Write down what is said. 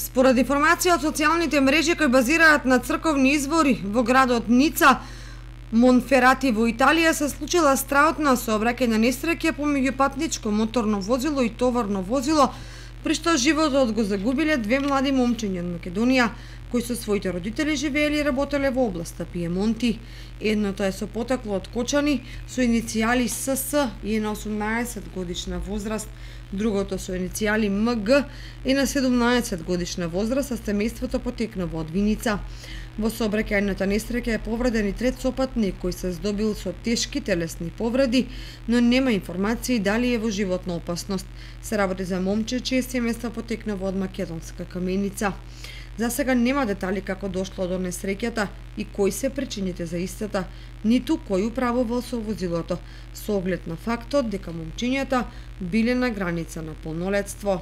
Според информација од социјалните мрежи кои базираат на црковни извори во градот Ница, Монферати во Италија, се случила страутна сообраќајна несреќа помеѓу патничко моторно возило и товарно возило, при што животот го загубиле две млади момчиња од Македонија, кои со своите родители живееле и работеле во областа Пиемонти. Едното е со потекло од Кочани, со иницијали СС и е на 18 годишна возраст, другото со иницијали МГ и на 17 годишна возраст, а семејството потекнува од Виница. Во сообраќајната несреќа е повреден и трет сопатник кој се здобил со тешки телесни повреди, но нема информации дали е во животна опасност. Се работи за момче чие семејство потекнува од македонска Каменица. За сега нема детали како дошло до несреќата и кои се причините за истата, ниту кој управувал со возилото, со оглед на фактот дека момчињата биле на граница на полнолетство.